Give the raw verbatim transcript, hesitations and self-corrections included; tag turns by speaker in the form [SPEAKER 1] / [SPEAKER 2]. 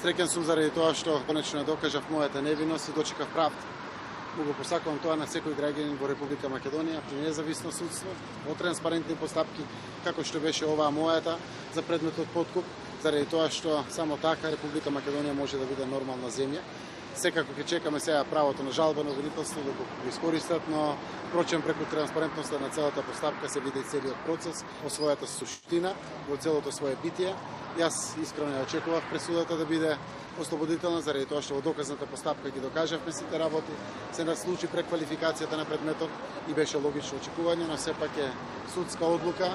[SPEAKER 1] Среќен сум заради тоа што конечно ја докажав мојата невиност и дочекав правда. Му го посакувам тоа на секој граѓанин во Република Македонија, при независно судство, во транспарентни постапки, како што беше оваа мојата за предметот подкуп, заради тоа што само така Република Македонија може да биде нормална земја. Секако ќе чекаме сега правото на жалбено обвинителство да го искористат, но впрочем преку транспарентноста на целата постапка се види целиот процес, во својата суштина, во целото свое битие. Јас искрено ја очекував пресудата да биде ослободителна, заради тоа што во доказната постапка ги докажавме сите работи, се наслучи преквалификацијата на предметот и беше логично очекување, но сепак е судска одлука.